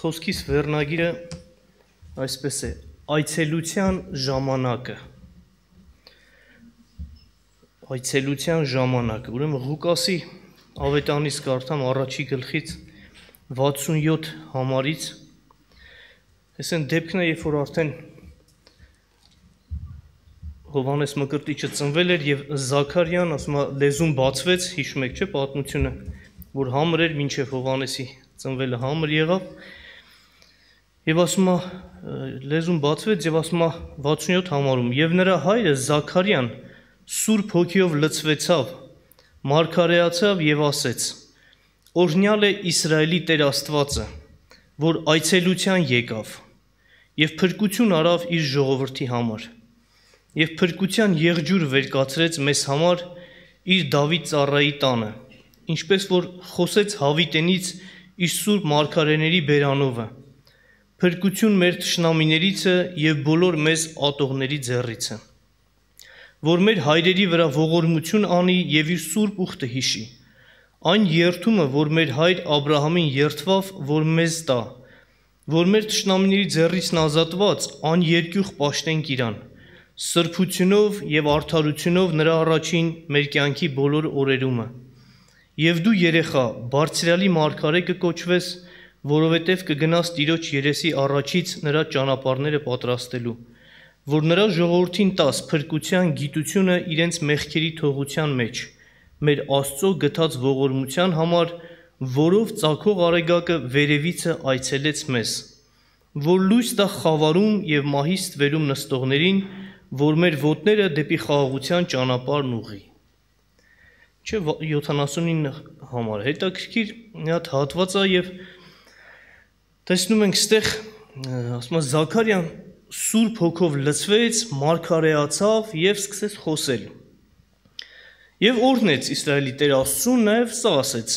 Խոսքիս վերնագիրը այսպես է, այցելության ժամանակը, ուրեմն Ղուկասի ավետանից կարդամ առաջի գլխից 67 համարից, այս են դեպքն է, երբ որ արդեն Հովհաննես Մկրտիչը ծնվել էր և Զաքարյան, ասում է, լեզուն բացվեց, հիշում եք չէ պատմությունը, որ համր էր, մինչև Հովհաննեսի ծնվելը համր եղավ, և ասում է, լեզուն բացվեց և ասում է 67 համարում, և նրա հայրը Զաքարյան Սուրբ Հոգիով լցվեցավ, մարգարեացավ և ասեց. օրհնյալ է Իսրայելի Տեր Աստվածը, որ այցելության եկավ և փրկություն արավ իր ժողովրդի համար և փրկության եղջյուր վերկացրեց մեզ համար իր Դավիթ ծառայի տանը, ինչպես որ խոսեց Հավիտենից իր սուրբ մարգարեների բերանովը, փրկություն մեր թշնամիներիցը և բոլոր մեզ ատողների ձեռիցը, որ մեր հայրերի վրա ողորմություն անի և իր սուրբ ուխտը հիշի, այն երդումը, որ մեր հայր Աբրահամին երդվավ, որ մեզ տա, որ մեր թշնամիների ձեռիցն ազատված աներկյուղ պաշտենք իրան, սրբությունով և արդարությունով նրա առաջին մեր կյանքի բոլոր օրերումը, և դու երեխա բարձրյալի մարգարե կկոչվես, որովհետև կգնաս Տիրոջ երեսի առաջից նրա ճանապարհները պատրաստելու, որ նրա ժողովրդին տաս փրկության գիտությունը իրենց մեղքերի թողության մեջ, մեր Աստծո գթած ողորմության համար, որով ծագող Արեգակը վերևիցը այցելեց մեզ, որ լույս տա խավարում և մահի ստվերում նստողներին, որ մեր ոտները դեպի խաղաղության ճանապարհն ուղղի։ Չէ 79 համար, հետաքրքիր մի հատ հատված է և տեսնում ենք ստեղ, ասում է Զաքարյան Սուրբ Հոգով լցվեց, մարգարեացավ և սկսեց խոսել։ Եվ օրհնեց Իսրայելի Տեր Աստծուն, նաև սա ասեց,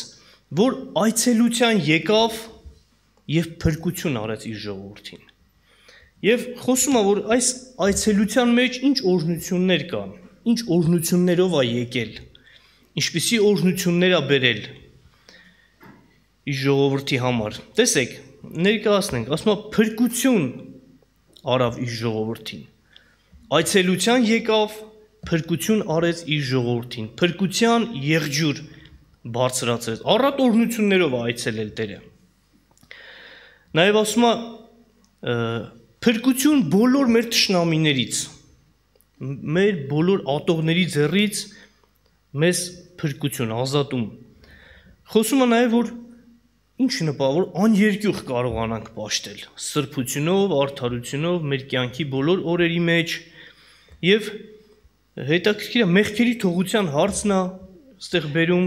որ այցելության եկավ և փրկություն արեց իր ժողովրդին։ Եվ խոսում է, որ այս այցելության մեջ ինչ օրհնություններ կան, ինչ օրհնություններով է եկել, ինչպիսի օրհնություններ է բերել իր ժողովրդի համար։ Տեսեք, ներկայացնենք, ասում է փրկություն արավ իր ժողովրդին, այցելության եկավ, փրկություն արեց իր ժողովրդին, փրկության եղջյուր բարձրացրեց, առատ օրհնություններով է այցելել Տերը։ Նաև ասում է փրկություն բոլոր մեր թշնամիներից, մեր բոլոր ատողների ձեռից մեզ փրկություն, ազատում։ Խոսում է նաև, որ ինչ նպատակ, որ աներկյուղ կարողանանք պաշտել, սրբությունով, արդարությունով, մեր կյանքի բոլոր օրերի մեջ և հետաքրքիր է, մեղքերի թողության հարցն է, ստեղ բերում,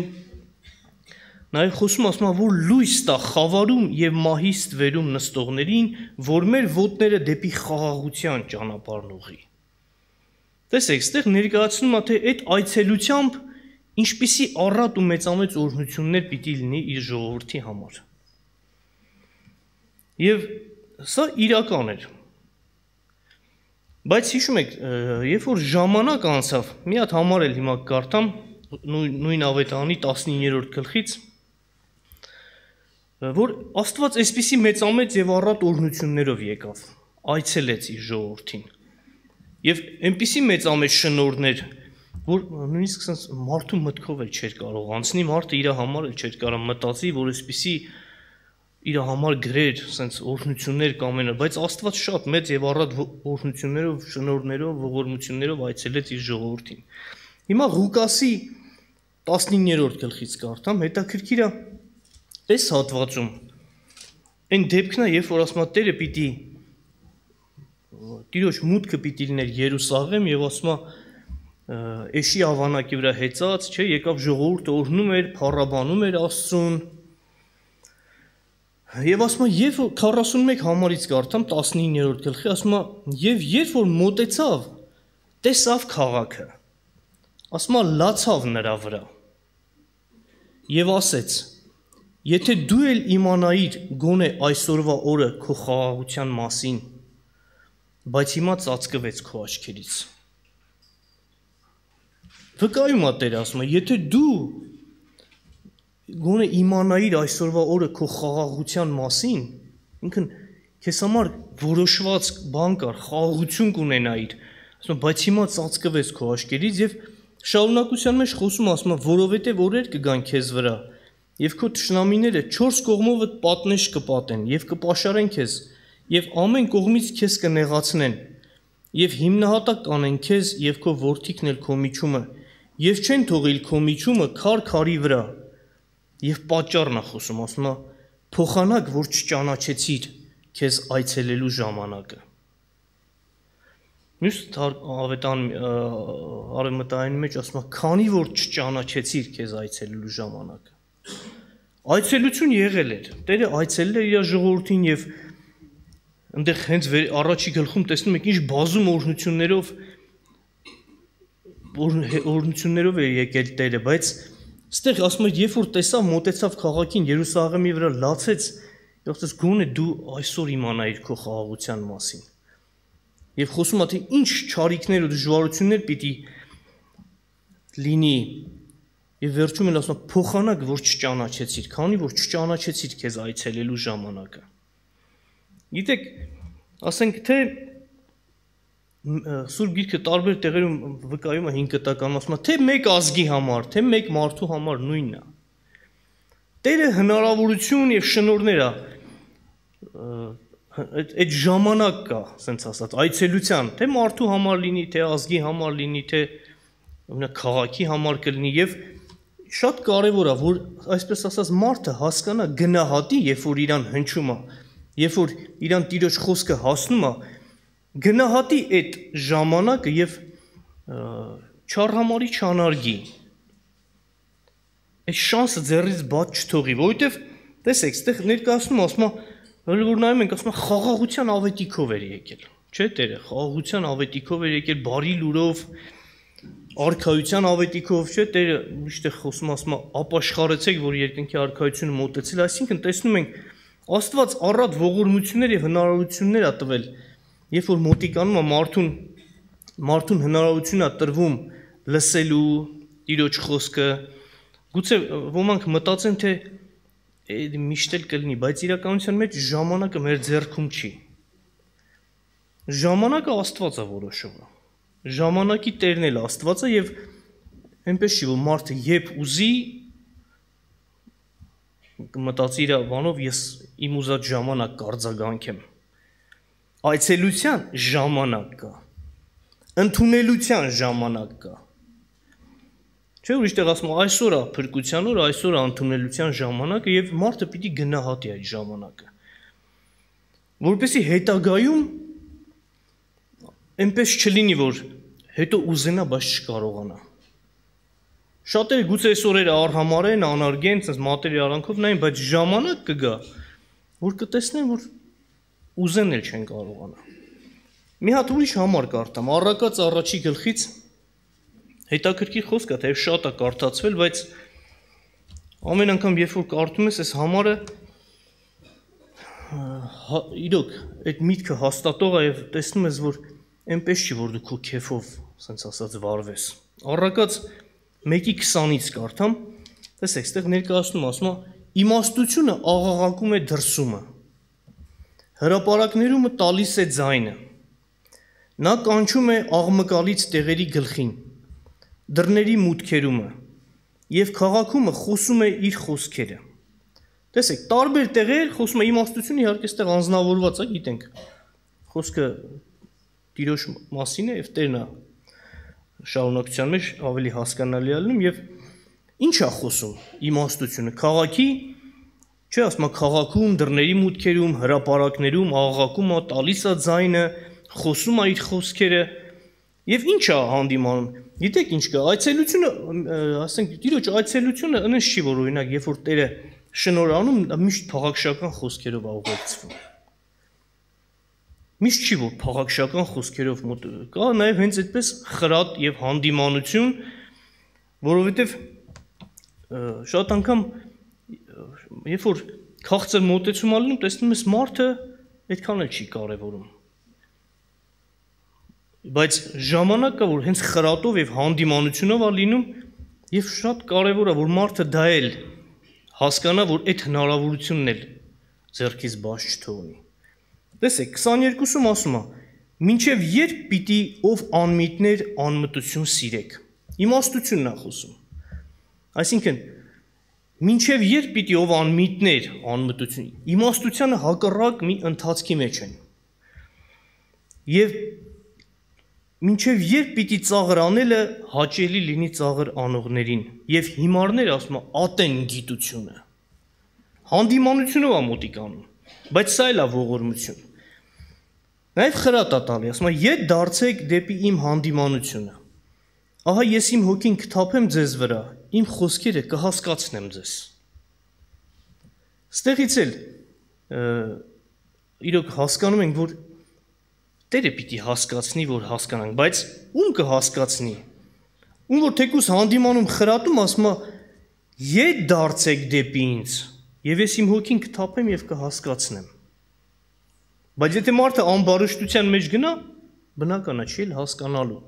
նաև խոսում ասում է, որ լույս տա խավարում և մահի ստվերում նստողներին, որ մեր ոտները դեպի խաղաղության ճանապարհն ուղղի։ Տեսեք, ստեղ ներկայացնում է, թե այդ այցելությամբ ինչպիսի առատ ու մեծամեծ օրհնություններ պիտի լինի իր ժողովրդի համար։ Եվ սա իրական էր։ Բայց հիշում եք, երբ որ ժամանակ անցավ, մի հատ համար էլ հիմա կարդամ, նույն ավետարանի 19-րդ գլխից, որ Աստված այսպիսի մեծամեծ և առատ օրհնություններով եկավ, այցելեց իր ժողովրդին։ Եվ այնպիսի մեծամեծ շնորհներ, որ նույնիսկ մարդու մտքով էլ չէր կարող անցնի, մարդը իր համար էլ չէր կարող մտածի, որ այսպիսի իր համար գրեր, ասենց օրհնություններ կամ բայց Աստված շատ մեծ և առատ օրհնություններով, շնորհներով, ողորմություններով այցելեց իր ժողովրդին։ Հիմա Ղուկասի 19-րդ գլխից կարդամ, հետաքրքիր է, այս հատվածում այն դեպքն է, երբ որ ասում է Տերը պիտի Տիրոջ մուտքը պիտի լիներ Երուսաղեմ և ասում է էշի ավանակի վրա հեծած, չէ, եկավ ժողովուրդը օրհնում էր, փառաբանում էր Աստծուն։ Եվ ասում է, և 41 համարից կարդամ 19-րդ գլխի, ասում է, և երբ որ մոտեցավ, տեսավ քաղաքը, ասում է լացավ նրա վրա և ասեց. Եթե դու էլ իմանայիր գոնե այսօրվա օրը քո խաղաղության մասին, բայց հիմա ծածկվեց քո աչքերից։ Վկայում է Տերը, ասում է, եթե դու գոնե իմանայիր այսօրվա օրը քո խաղաղության մասին, ինքն քեզ համար որոշված բան կար, խաղաղություն կունենայիր, ասում բայց հիմա ծածկվեց քո աչքերից եւ շարունակության մեջ խոսում ասում է, որովհետեւ օրեր կգան քեզ վրա եւ քո թշնամիները 4 կողմովդ պատնեշ կպատեն եւ կպաշարեն քեզ եւ ամեն կողմից քեզ կնեղացնեն եւ հիմնահատակ կանեն քեզ եւ քո որդիքն էլ քո միջումը եւ չեն թողիլ քո միջումը քարի վրա եւ պատճառն է խոսում ասում է փոխանակ որ չճանաչեցիր քեզ այցելելու ժամանակը մյուս ավետան արևմտային մեջ ասում է քանի որ չճանաչեցիր քեզ այցելելու ժամանակը այցելություն եղել էր Տերը այցելել էր իր ժողովրդին եւ այնտեղ հենց առաջի գլխում տեսնում եք ինչ բազում օրհնություններով է եկել Տերը բայց այստեղ ասում է երբ որ տեսավ մոտեցավ քաղաքին Երուսաղեմի վրա լացեց Յոթս գոնե դու այսօր իմանայիր քո խաղաղության մասին։ Եվ խոսում է թե ինչ չարիքներ ու դժվարություններ պիտի լինի։ Եվ վերջում էլ ասում է փոխանակ որ չճանաչեցիր, քանի որ չճանաչեցիր քեզ այցելելու ժամանակը։ Գիտեք, ասենք թե Սուրբ Գիրքը տարբեր տեղերում վկայում է 5 կտականում ասում է թե մեկ ազգի համար, թե մեկ մարդու համար նույնն է։ Տերը հնարավորություն եւ շնորհներ է այդ ժամանակ կա, ասենց ասած, այցելության, թե մարդու համար լինի, թե ազգի համար լինի, թե քաղաքի համար կլինի եւ շատ կարեւոր է, որ այսպես ասած մարդը հասկանա գնահատի, երբ որ իրան հնչում է, երբ որ իրան Տիրոջ խոսքը հասնում է, գնահատի այդ ժամանակը եւ չարհամարի չանարգի։ Այդ շանսը ձեռից բաց չթողի, որովհետեւ տեսեք, այդտեղ ներկայացնում ասում է, որ նայում ենք, ասում է խաղաղության ավետիքով էր եկել, չէ՞ Տերը, խաղաղության ավետիքով էր եկել, բարի լուրով, արքայության ավետիքով, չէ՞ Տերը միշտ խոսում ասում է ապաշխարեցեք, որ երկնքի արքայությունը մոտեցել, այսինքն տեսնում ենք Աստված առատ ողորմություններ եւ հնարավորություններ է տվել, երբ որ մոտիկանում է մարդուն հնարավորություն է տրվում լսելու Տիրոջ խոսքը, գուցե ոմանք մտածեն թե միշտ էլ կլինի, բայց իրականության մեջ ժամանակը մեր ձեռքում չի։ Ժամանակը Աստված է որոշում։ Ժամանակի Տերն էլ Աստված է եւ այնպես չի որ մարդը երբ ուզի մտածի իր բանով ես իմ ուզած ժամանակ կարձագանքեմ։ Այցելության ժամանակ կա։ Ընդունելության ժամանակ կա։ Չէ՞ ուրիշ տեղ ասում այսօր է փրկության օր, այսօր է ընդունելության ժամանակը եւ մարդը պիտի գնահատի այդ ժամանակը։ Որպեսզի հետագայում այնպես չլինի, որ հետո ուզենա, բայց չկարողանա։ Շատերը գուցե այս օրերը արհամարեն, անարգեն, sense մատերի արանքով նային, բայց ժամանակ կգա, որ կտեսնեն, որ ուզեն էլ չեն կարողանա։ Մի հատ ուրիշ համար կարդամ, Առակաց առաջի գլխից հետաքրքիր խոսք է, թեև շատ է կարդացվել, բայց ամեն անգամ երբ որ կարդում ես այս համարը իրոք այդ միտքը հաստատող է եւ տեսնում ես, որ այնպես չի, որ դու քո քեֆով, ասենց ասած, վարվես։ Առակաց 1:20-ից կարդամ, տեսեք, այստեղ ներկայացնում ասում է իմաստությունը աղաղակում է դրսումը, հրապարակներումը տալիս է ձայնը, նա կանչում է աղմկալից տեղերի գլխին, դռների մուտքերումը եւ քաղաքումը խոսում է իր խոսքերը։ Տեսեք, տարբեր տեղեր խոսում է իմաստությունը իհարկե այստեղ անձնավորված է, գիտենք։ Խոսքը Տիրոջ մասին է եւ Տերն է շարունակության մեջ ավելի հասկանալի է լինում եւ ինչ է խոսում իմաստությունը քաղաքի, չէ, ասում է քաղաքում, դռների մուտքերում, հրապարակներում աղաղակում է, տալիս է ձայնը, խոսում է իր խոսքերը եւ ինչ է հանդիմանում։ Գիտեք ինչ կա, այցելությունը, ասենք Տիրոջ այցելությունը այնպես չի, որ օրինակ երբ որ Տերը շնորհանում, միշտ փաղաքշական խոսքերով է ուղեկցվում։ Միշտ չի որ փաղաքշական խոսքերով կա նաև հենց այդպես խրատ եւ հանդիմանություն, որովհետեւ շատ անգամ երբ որ քաղցր մոտեցում է լինում, տեսնում ես մարդը այդքան էլ չի կարևորում։ Բայց ժամանակ կա որ հենց խրատով եւ հանդիմանությունով է լինում եւ շատ կարևոր է որ մարդը դա էլ հասկանա որ այդ հնարավորությունն էլ ձեռքից բաց չթողնի։ Տեսեք, 22-ում ասում է. «Մինչև երբ պիտի ով անմիտներ անմտություն սիրեք»։ Իմաստությունն է խոսում։ Այսինքն, մինչև երբ պիտի ով անմիտներ անմտություն, իմաստությանը հակառակ մի ընթացքի մեջ են։ Եվ մինչև երբ պիտի ծաղր անելը հաճելի լինի ծաղր անողներին, եւ հիմարները ասում է ատեն գիտությունը։ Հանդիմանությունով է մոտիկ անում, բայց սա էլ է ողորմություն։ Նաև խրատ է տալի, ասում է ետ դարձեք դեպի իմ հանդիմանությունը։ Ահա ես իմ հոգին կթափեմ ձեզ վրա, իմ խոսքերը կհասկացնեմ ձեզ։ Ստեղից էլ իրոք հասկանում ենք, որ Տերը պիտի հասկացնի, որ հասկանանք, բայց ում կհասկացնի։ Ում որ թեկուս հանդիմանում խրատում ասում է ետ դարձեք դեպի ինձ, եւ ես իմ հոգին կթափեմ եւ կհասկացնեմ։ Բայց եթե մարդը անբարշտության մեջ գնա, բնական է չի էլ հասկանալու։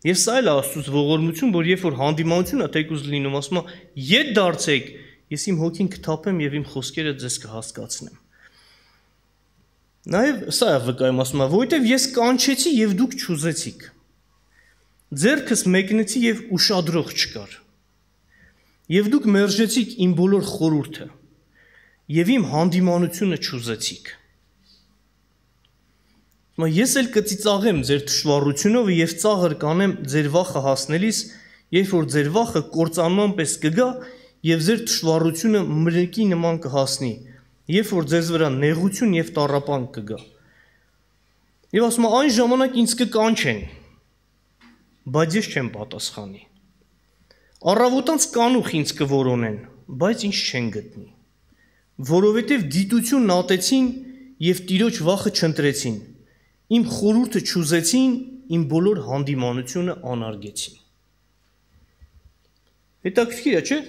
Եվ սա էլ Աստծուց ողորմություն, որ երբ որ հանդիմանություն է թեկուս լինում, ասում է ետ դարձեք, ես իմ հոգին կթափեմ եւ իմ խոսքերը ձեզ կհասկացնեմ։ Նաև սա է վկայում, ասում է, որովհետև ես կանչեցի եւ դուք չուզեցիք։ Ձեռքս մեկնեցի եւ ուշադրող չկար։ Եվ դուք մերժեցիք իմ բոլոր խորհուրդը եւ իմ հանդիմանությունը չուզեցիք։ Ես էլ կծիծաղեմ ձեր թշվառությունով եւ ծաղր կանեմ ձեր վախը հասնելիս, երբ որ ձեր վախը կործանման պես կգա եւ ձեր թշվառությունը մրրիկի նման կհասնի։ Երբ որ ձեզ վրա նեղություն եւ տառապանք կգա։ Եվ ասում է այն ժամանակ ինձ կկանչեն, բայց ես չեմ պատասխանի։ Առավոտանց կանուխ ինձ կորոնեն, բայց ինձ չեն գտնի։ Որովհետեւ դիտությունն ատեցին եւ Տիրոջ վախը չընտրեցին։ Իմ խորհուրդը չուզեցին, իմ բոլոր հանդիմանությունը անարգեցին։ Հետաքրքիր է, չէ՞։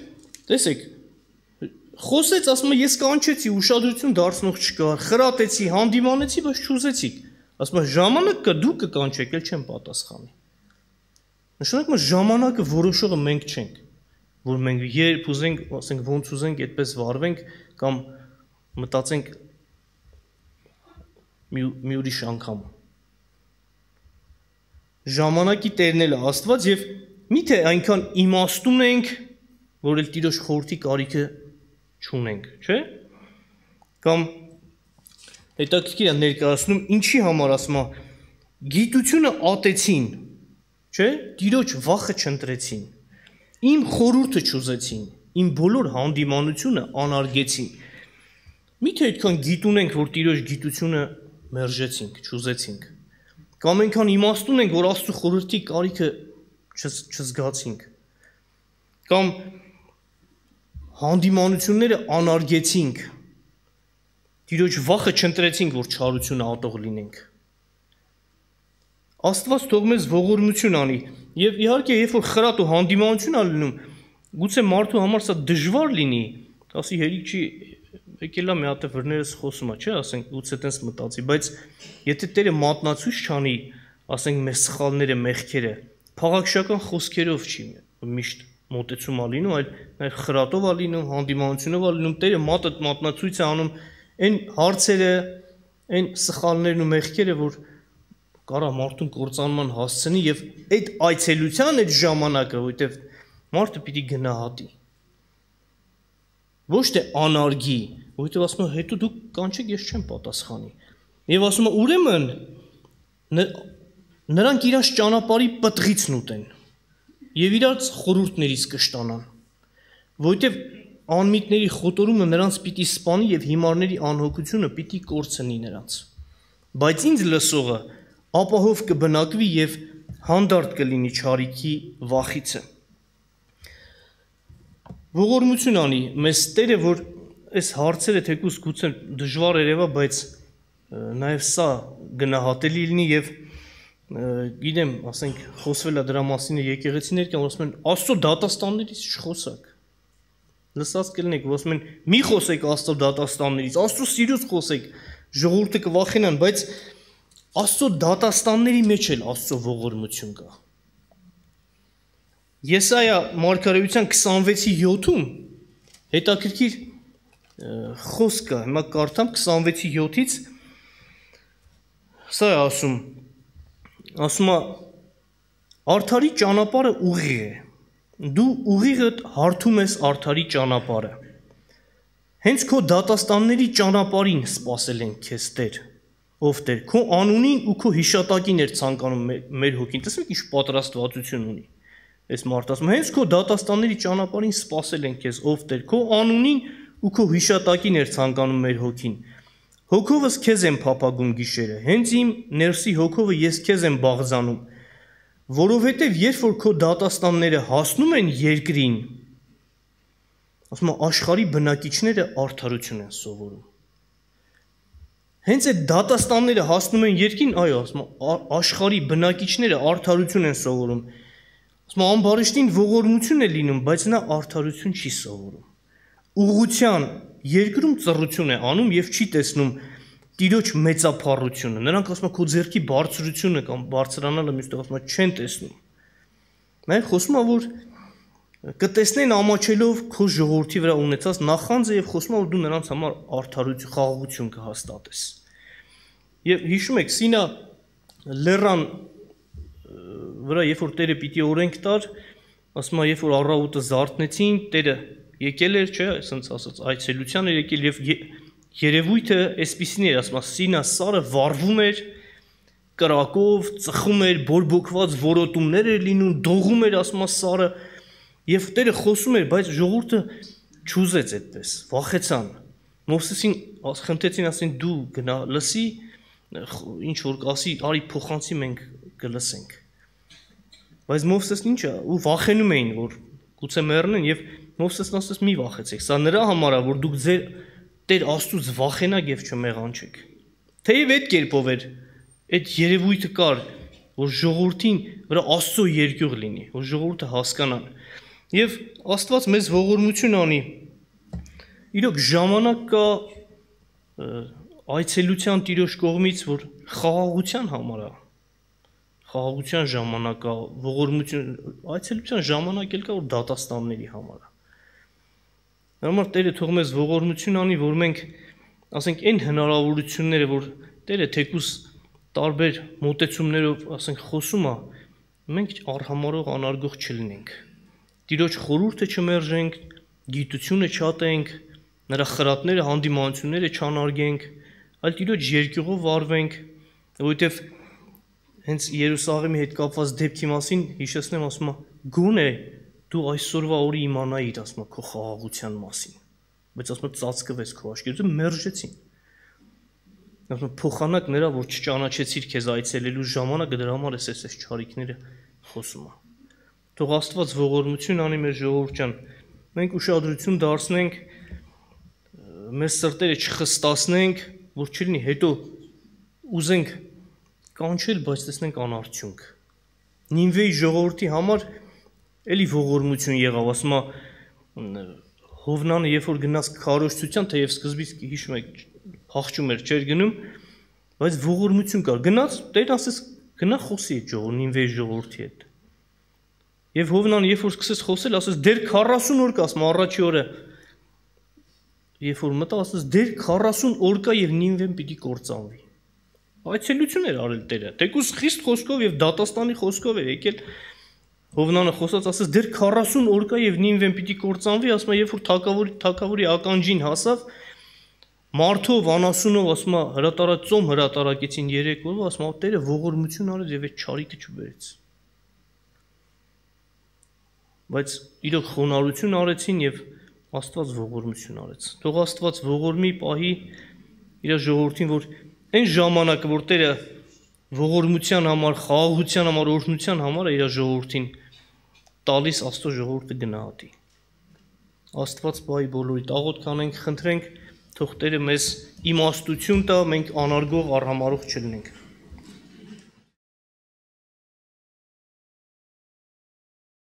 Տեսեք, խոսեց, ասում է, ես կանչեցի, ուշադրություն դարձնող չկար, խրատեցի, հանդիմանեցի, բայց չուզեցիք։ Ասում է, ժամանակ կա, դուք կկանչեք, էլ չեմ պատասխանի։ Նշանակում է ժամանակը որոշողը մենք չենք, որ մենք երբ ուզենք, ասենք, ոնց ուզենք, այդպես վարվենք կամ մտածենք մի ուրիշ անգամ։ Ժամանակի տերն էլ Աստված եւ միթե այնքան իմաստուն ենք, որ էլ Տիրոջ խորհրդի կարիքը չունենք, չէ՞։ Կամ հետաքրքիր է ներկայացնում ինչի համար ասում է գիտությունը ատեցին, չէ՞, Տիրոջ վախը չընտրեցին, իմ խորհուրդը չուզեցին, իմ բոլոր հանդիմանությունը անարգեցին։ Միթե այդքան գիտուն ենք, որ Տիրոջ գիտությունը մերժեցինք, չուզեցինք։ Կամ այնքան իմաստուն ենք, որ Աստծո խորհրդի կարիքը չզգացինք։ Կամ հանդիմանությունները անարգեցինք, Տիրոջ վախը չընտրեցինք, որ չարությունը ատող լինենք։ Աստված թող մեզ ողորմություն անի, եւ իհարկե, երբ որ խրատ ու հանդիմանություն ա լինում, գուցե մարդու համար սա դժվար լինի, ասի հերիք չի եկել է մի հատ վրներս խոսում է, չէ, ասենք գուցե տենց մտածի, բայց եթե Տերը մատնացույց չանի, ասենք մեր սխալները, մեղքերը, փաղաքշական խոսքերով չի միշտ մոտեցում ա լինում, այլ նաև խրատով ա լինում, հանդիմանությունով ա լինում, Տերը մատնացույց է անում այն հարցերը, այն սխալներն ու մեղքերը, որ կարա մարդուն կործանման հասցնի եւ այդ այցելության այդ ժամանակը, որովհետեւ մարդը պիտի գնահատի։ Ոչ թե անարգի, որովհետեւ ասում է հետո դուք կանչեք, ես չեմ պատասխանի։ Եվ ասում է ուրեմն նրանք իրաց ճանապարհի պտղիցն ուտեն եւ իրաց խորհուրդներից կշտանան, որովհետեւ անմիտների խոտորումը նրանց պիտի սպանի եւ հիմարների անհոգությունը պիտի կորցնի նրանց։ Բայց ինձ լսողը ապահով կբնակվի եւ հանդարտ կլինի չարիքի վախիցը։ Ողորմություն անի մեզ Տերը, որ այս հարցերը թեկուզ գուցե դժվար երևա, բայց նաև սա գնահատելի լինի եւ գիտեմ, ասենք խոսվել է դրա մասին եկեղեցիներ կան, ասում են Աստծո դատաստաններից չխոսակ։ Լսած կլինեք, ասում են մի խոսեք Աստծո դատաստաններից, Աստծո սիրուց խոսեք, ժողովուրդը կվախենան, բայց Աստծո դատաստանների մեջ էլ Աստծո ողորմություն կա։ Եսայա մարգարեության 26-ի 7-ում հետաքրքիր խոսքը, հիմա կարդամ 26:7-ից, սա է ասում է արդարի ճանապարհը ուղիղ է, դու ուղիղդ հարթում ես արդարի ճանապարհը, հենց քո դատաստանների ճանապարհին սպասել ենք քեզ Տեր, ով Տեր, քո անունին ու քո հիշատակին էր ցանկանում մեր հոգին, տեսեք ինչ պատրաստվածություն ունի, այս մարդը ասում, հենց քո դատաստանների ճանապարհին սպասել ենք քեզ, ով Տեր, քո անունին ու քո հիշատակին էր ցանկանում մեր հոգին, հոգովս քեզ եմ փափագում գիշերը, հենց իմ ներսի հոգովը ես քեզ եմ բաղձանում, որովհետև երբ որ քո դատաստանները հասնում են երկրին, ասում աշխարհի բնակիչները արդարություն են սովորում, հենց այդ դատաստանները հասնում են երկրին, այո, ասում աշխարհի բնակիչները արդարություն են սովորում, ասում ամբարիշտին ողորմություն է լինում, բայց նա արդարություն չի սովորում, ուղղության երկրում ծռություն է անում եւ չի տեսնում Տիրոջ մեծափառությունը, նրանք ասում են քո ձեռքի բարձրությունը կամ բարձրանալը միշտ ասում են չեն տեսնում, մենք խոսում ենք որ կտեսնեն ամաչելով քո ժողովրդի վրա ունեցած նախանձը եւ խոսում ենք որ դու նրանց համար արդարություն, խաղաղություն կհաստատես, եւ հիշում եք Սինա լեռան վրա երբ որ Տերը պիտի օրենք տար, ասում է երբ որ առավոտը զարթնեցին, Տերը եկել էր, չէ, ասենց ասած այցելության էր եկել եւ երևույթը այսպիսին էր, ասում է Սինա սարը վառվում էր կրակով, ծխում էր, բորբոքված որոտումներ էր լինում, դողում էր, ասում է սարը եւ Տերը խոսում էր, բայց ժողովուրդը չուզեց այդպես, վախեցան։ Մովսեսին խնդրեցին, ասին դու գնա լսի, ինչ որ կասի, արի փոխանցի մենք կլսենք։ Բայց Մովսեսն ինչա, ու վախենում էին, որ գուցե մեռնեն եւ Մովսեսն ասաց մի վախեցեք, սա նրա համար է, որ դուք ձեր Տեր Աստծուց վախենաք եւ չմեղանչեք։ Թեև այդ կերպով էր, այդ երևույթը կար, որ ժողովրդին վրա Աստծո երկյուղ լինի, որ ժողովուրդը հասկանան։ Եվ Աստված մեզ ողորմություն անի։ Իրոք ժամանակ կա այցելության Տիրոջ կողմից, որ խաղաղության համար է։ Խաղաղության ժամանակ կա, ողորմություն, այցելության ժամանակ էլ կա, որ դատաստանների համար է։ Համար Տերը թող մեզ ողորմություն անի, որ մենք, ասենք, այն հնարավորությունները, որ Տերը թեկուզ տարբեր մոտեցումներով, ասենք, խոսում է, մենք արհամարող անարգող չլինենք։ Տիրոջ խորհուրդը չմերժենք, գիտությունը չատենք, նրա խրատները, հանդիմանությունները չանարգենք, այլ Տիրոջ երկյուղով վարվենք, որովհետև հենց Երուսաղեմի հետ կապված դեպքի մասին հիշեցնեմ, ասում է, գոնե դու այսօրվա օրը իմանայիր, ասում է, քո խաղաղության մասին, բայց ասում է, ծածկվեց քո աչքերից, մերժեցին։ Ասում է, փոխանակ նրա, որ չճանաչեցիր քեզ այցելելու ժամանակը, դրա համար էս չարիքները խոսում է։ Թող Աստված ողորմություն անի մեր ժողովուրդ ջան, մենք ուշադրություն դարձնենք, մեր սրտերը չխստացնենք, որ չլինի հետո ուզենք կանչել, բայց տեսնենք անարդյունք։ Նինվեի ժողովրդի համար էլի ողորմություն եղավ, ասում է Հովնանը, երբ որ գնաց քարոզչության, թեև սկզբից հիշում եք, փախչում էր, չէր գնում, բայց ողորմություն կար։ Գնաց, Տերն ասեց, գնա խոսի այդ Նինվեի ժողովրդի հետ։ Եվ Հովնանը, երբ որ սկսեց խոսել, ասեց, դեր 40 օր կա, ասում առաջի օրը, երբ որ մտա, ասեց, դեր 40 օր կա եւ Նինվեն պիտի կործանվի։ Այցելություն էր արել Տերը, թեկուզ խիստ խոսքով եւ դատաստանի խոսքով էր եկել Հովնանը խոսած, ասեց, դեր 40 օր կա եւ Նինվեն պիտի կործանվի, ասում է, երբ որ թագավորի ականջին հասավ, մարդով, անասունով, ասում է, հրատարակ հրատարակեցին 3 օրով, ասում է, Տերը ողորմություն արեց եւ այդ չարիքը չբերեց։ Բայց իրոք խոնարհություն արեցին եւ Աստված ողորմություն արեց։ Թող Աստված ողորմի պահի իր ժողովրդին, որ այն ժամանակը, որ Տերը ողորմության համար, խաղաղության համար, օրհնության համար իր ժողովրդին տալիս Աստծո ժողովուրդը գնահատի։ Աստված պահի բոլորիդ, աղոթք անենք, խնդրենք, թող Տերը մեզ իմաստություն տա, մենք անարգող, արհամարող չլինենք։